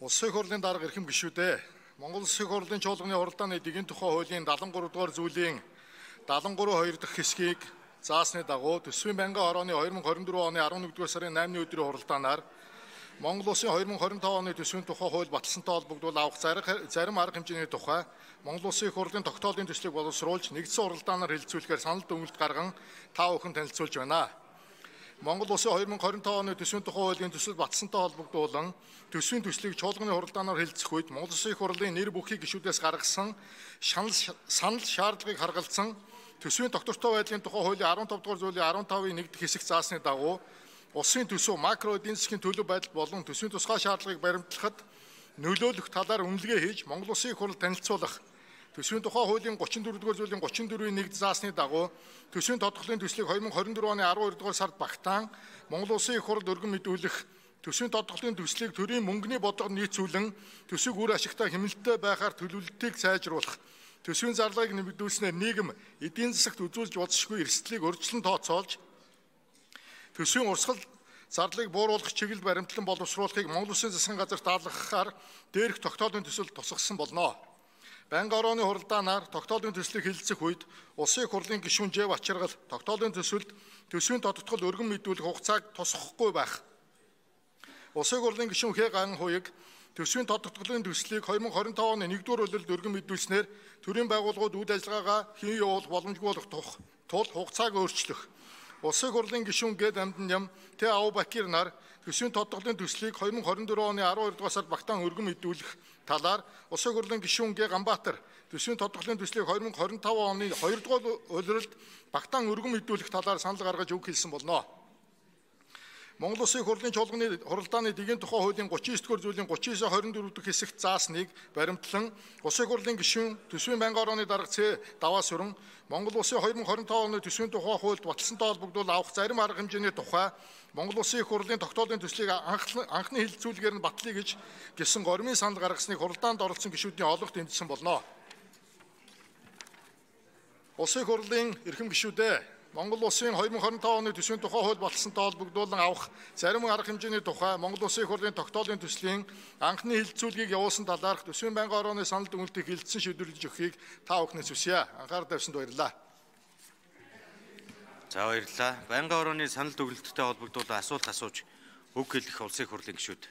Улсын хурлын дарга эрхэм гишүүдээ Монгол Улсын хурлын чуулганы хуралдааны дэгийн тухай хуулийн 73 дугаар зүйлийн 73(2) дахь хэсгийг заасны дагуу төсвийн байнгын хорооны 2024 оны 11-р сарын 8-ны өдрийн хуралдаанаар Монгол Улсын 2025 оны төсвийн тухай хууль баталсантай холбогдуулан авах зарим арга хэмжээний тухай Монгол Улсын хурлын тогтоолын төслийг боловсруулж нэгдсэн хуралдаанаар хэлэлцүүлэхээр санал дүгнэлт гарган та бүхэн танилцуулж байна. Монгол Улсын 2025 оны төсвийн тухай хуулийн төсөл баталсантай холбогдуулан төсвийн төслийг чуулганы хуралдаанаар хэлэлцэх үед Монгол Улсын хурлын нэр бүхий гишүүдээс гаргасан санал шаардлагыг харгалзан төсвийн доктортой байдлын тухай хуулийн 15 дугаар зүйлийн 15-ийн 1 дахь хэсэг заасны дагуу улсын төсөв макро эдийн засгийн төлөв байдал болон төсвийн тусгай шаардлагыг баримтлахад нөлөөлөх талаар үнэлгээ хийж Монгол Улсын хурл танилцуулах төсвийн тухай хуулийн 34 дугаар зүйлийн 34-ийн 1 заасны дагуу төсвийн тодорхойлолтын төслийг 2024 оны 12 дугаар сард багтаан Монгол Улсын хурл өргөн мэдүүлэх төсвийн тодорхойлолтын төслийг төрийн мөнгөний бодлогод нийцүүлэн төсвийг үр ашигтай хэмнэлттэй байхаар төлөвлөлтийг сайжруулах төсвийн зарлагыг нэмэгдүүлснээр нийгэм эдийн засагт үзүүлж болзошгүй эрсдлийг урьдчилан тооцоолж төсвийн урсгал зардлыг бууруулах чиглэл баримтлан боловсруулахыг Монгол Улсын засгийн газарт даалгахаар дээрх тогтоолын төсөл тусгасан болно. Байнгын хорооны хуралдаанаар тогтоолын төслийг хэлэлцэх үед Улсын хурлын гишүүн Ж Бачаргал тогтоолын төсөлд төсвийн тодотгол өргөн мэдүүлэх хугацааг тусгахгүй байх. Улсын хурлын гишүүн Х Ган Хуйг төсвийн тодотголын төслийг 2025 оны 1-р улиралд өргөн мэдүүлснээр төрийн байгууллагууд үйл ажиллагаагаа хэн явуулах боломжгүй болох тул хугацааг өөрчлөх. Улсын хурлын гишүүн Г Дамдан Ням Т Ав Бакир нар төсвийн тодотголын төслийг 2024 оны 12 дугаар сард багтаан өргөн мэдүүлэх талаар Улсын хурлын гишүүн Г Ганбаатар төсвийн тодотголын төслийг 2025 оны 2 дугаар улиралд багтаан өргөн мэдүүлэх талаар санал гаргаж үг хэлсэн болно. Монгол Улсын хурлын чуулганы хуралдааны дэгийн тухай хуулийн 39 дугаар зүйлийн 39-24 дахь хэсэгт заасныг баримтлан Улсын хурлын гишүүн төсвийн байнгын хорооны дарга Ц Даваа Сүрэн Монгол Улсын 2025 оны төсвийн тухай хуульд баталсантай холбогдуулан авах зарим арга хэмжээний тухай Монгол Улсын хурлын тогтоолын төслийг анхны хэлэлцүүлгээр нь батлая гэж гисэн гормын санал гаргасныг хуралдаанд оролцсон гишүүдийн олонх тэмцсэн болно. Улсын хурлын эрхэм гишүүдээ Монгол Улсын 2025 оны төсвийн тухай хууль баталсантай холбогдуулан авах зарим арга хэмжээний тухай Монгол Улсын хурлын тогтоолын төслийн анхны хэлэлцүүлгийг явуулсан талаарх төсвийн байнгын хорооны санал дүгнэлтийг хэлэлцэн шийдвэрлэж өгөхийг та бүхнээс хүсье. Анхаарал тавьсанд баярлалаа. За баярлалаа. Байнгын хорооны санал дүгнэлттэй холбогдуулан асуулт асууж үг хэлэх Улсын хурлын гишүүд.